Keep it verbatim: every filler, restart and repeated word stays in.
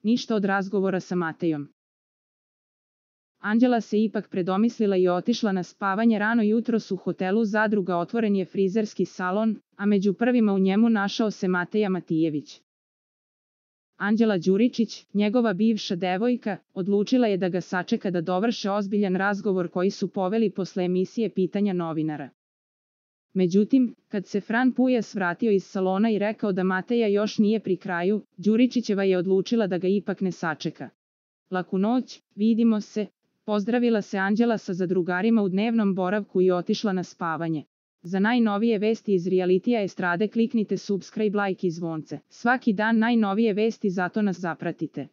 ništa od razgovora sa Matejom. Anđela se ipak predomislila i otišla na spavanje rano jutros u hotelu Zadruga otvoren je frizerski salon, a među prvima u njemu našao se Mateja Matijević. Anđela Đuričić, njegova bivša devojka, odlučila je da ga sačeka da dovrše ozbiljan razgovor koji su poveli posle emisije Pitanja novinara. Međutim, kad se Fran Pujas vratio iz salona i rekao da Mateja još nije pri kraju, Đuričićeva je odlučila da ga ipak ne sačeka. Laku noć, vidimo se, pozdravila se Anđela sa zadrugarima u dnevnom boravku i otišla na spavanje. Za najnovije vesti iz realitija estrade kliknite subscribe, like i zvonce. Svaki dan najnovije vesti, zato nas zapratite.